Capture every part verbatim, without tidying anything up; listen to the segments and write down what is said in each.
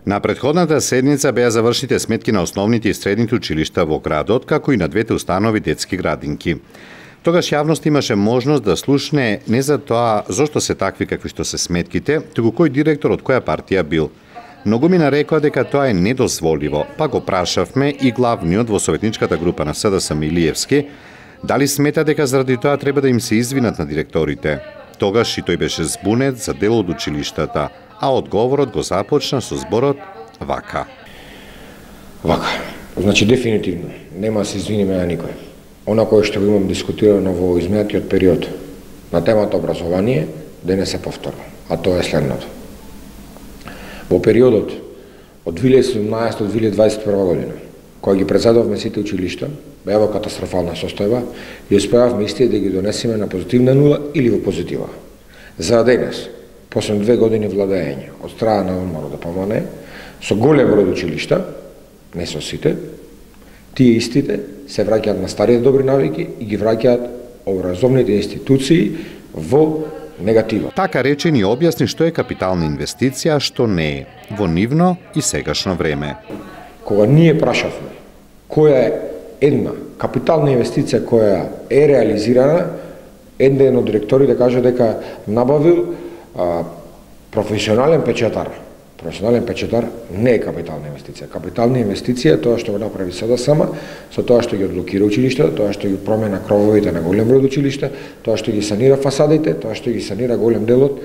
На претходната седница беа завршите сметки на основните и средните училишта во градот, како и на двете установи детски градинки. Тогаш јавност имаше можност да слушне не за тоа зошто се такви какви што се сметките, туку кој директор од која партија бил. Многу ми нарекоа дека тоа е недозволиво, па го прашавме и главниот во советничката група на СДС Милиевски, дали смета дека заради тоа треба да им се извинат на директорите. Тогаш и тој беше збунет за дел од училиштата, а одговорот го започна со зборот вака. Вака. Значи дефинитивно нема да се извиниме на никој. Она кое што го имам дискутирано во изминатиот период на темата образование, да не се повторува, а тоа е следното. Во периодот од две илјади и седумнаесета до две илјади и дваесет и прва година, кога ги председавме сите училишта, беа во катастрофална состојба и успеавме истите да ги донесеме на позитивна нула или во позитива. За денес, после две години владење од страна на ВМРО да помане, со голем број училишта, не со сите, тие истите се враќаат на старите добри навики и ги враќаат образовните институции во негатива. Така рече ни објасни што е капитална инвестиција, а што не е, во нивно и сегашно време. Кога ние прашавме која е една капитална инвестиција која е реализирана, еден од директорите каже дека набавил а, професионален печатар. Професионален печатар не е капитална инвестиција. Капитална инвестиција е тоа што го направи СДСМ, со тоа што ги одблокира училишта, тоа што ги промена крововите на голем број училишта, тоа што ги санира фасадите, тоа што ги санира голем дел од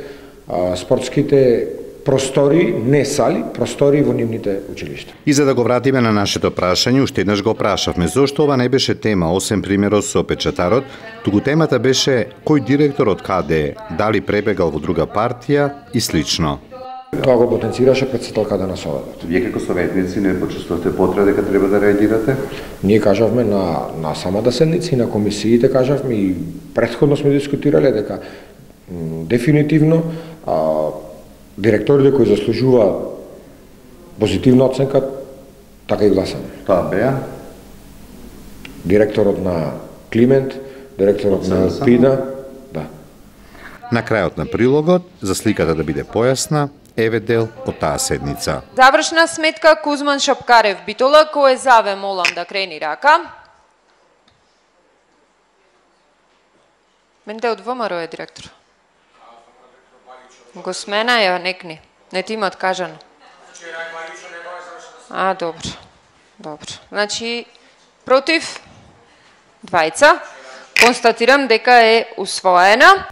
а, спортските простори, не сали, простори во нивните училишта. И за да го вратиме на нашето прашање, уште еднаш го прашавме зошто ова не беше тема, осем примерот со печатарот, туку темата беше кој директор од каде е, дали пребегал во друга партија и слично. Тоа го потенцираше претседателката на Советот. Вие како советници не почувствувате потреба дека треба да реагирате? Ние кажавме на, на самата седница и на комисиите кажавме и претходно сме дискутирале дека м, дефинитивно а, директорите кои заслужуваат позитивна оценка, така и гласаме. Тоа беа? Директорот на Климент, директорот на Елпида, да. На крајот на прилогот, за сликата да биде појасна, еве дел од таа седница. Завршна сметка Кузман Шапкарев Битола, кој заве молам да крени рака. Менте од ВМРО е директор. Го смена ја некни. Не ти имат кажано. А, добро. Добро. Значи, против двајца. Констатирам дека е усвоена.